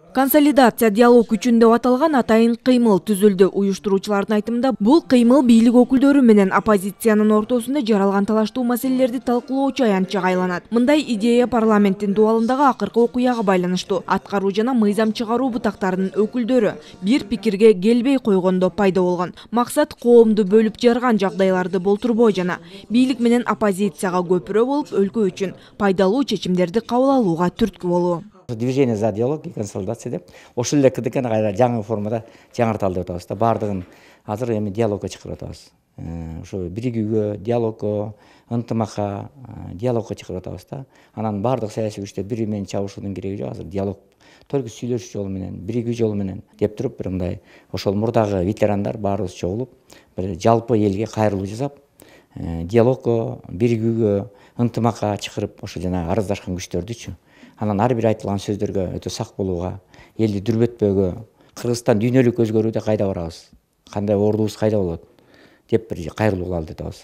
Консолидация диалог үчүн деп аталган атайын кыймыл түзүлдү. Уюштуруучулардын айтымында бул кыймыл бийлик өкүлдөрү менен оппозициянын ортосунда жаралган талаштуу маселелерди талкуулоочу аянтчага айланат. Мындай идея парламенттин дубалындагы акыркы окуяга байланыштуу. Аткаруу жана мыйзам чыгаруу бутактарынын өкүлдөрү бир пикирге келбей койгондо пайда болгон. Максат коомду бөлүп жарган жагдайларды болтурбоо жана бийлик менен оппозицияга көпүрө болуп өлкө үчүн пайдалуу чечимдерди кабыл алууга түрткү болуу. Движение за диалог и консолидация деп ошол эле КДКны кайра жаңы формада жаңырталы деп атабыз да. Баардыгын азыр эми диалогко чакырып атабыз. Ошо биригүүгө, диалогко, ынтымакка, диалогко чакырып атабыз да. Анан баардык саясий күчтөр бири бири менен чабышуунун кереги жок. Азыр диалог только сүйлөшүү жолу менен, биригүү жолу менен деп туруп бир мындай ошол мурдагы ветерандар баарыбыз чогулуп, бир жалпы элге кайрылуу жасап, диалогко, биригүүгө, ынтымакка чакырып, ошо жанагы арыздашкан күчтөрдүчү анан ар бир айтылган сөздөргө өтө сак болууга, элди дүрбөтпөөгө, Кыргызстан дүйнөлүк өзгөрүүдө кайда барабыз, кандай ордубуз кайда болот деп бир кайрылуу кылалы деп атабыз.